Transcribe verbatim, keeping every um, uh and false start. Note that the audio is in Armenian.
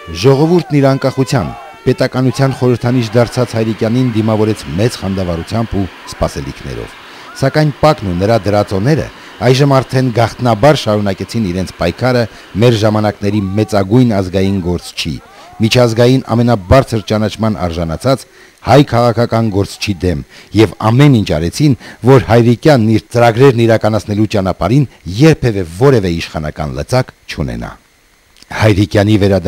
Ժողովուրդն իր անկախության, պետականության խորհրդանիշ դարձած Հայրիկյանին դիմավորեց մեծ խանդավառությամբ ու սպասելիքներով, սակայն Պակն ու նրա դրածոները այժմ արդեն գաղտնաբար շարունակեցին իրենց պայքարը մեր ժամանակների մեծագույն ազգային գործչի, միջազգային ամենաբարձր ճանաչման արժանացած հայ քաղաքական գործչի դեմ եւ ամեն ինչ արեցին, որ Հայրիկյանն իր ծրագրերն իրականացնելու ճանապարհին երբևէ որևէ իշխանական լծակ չունենա։ Հայրիկյանի վերադարձ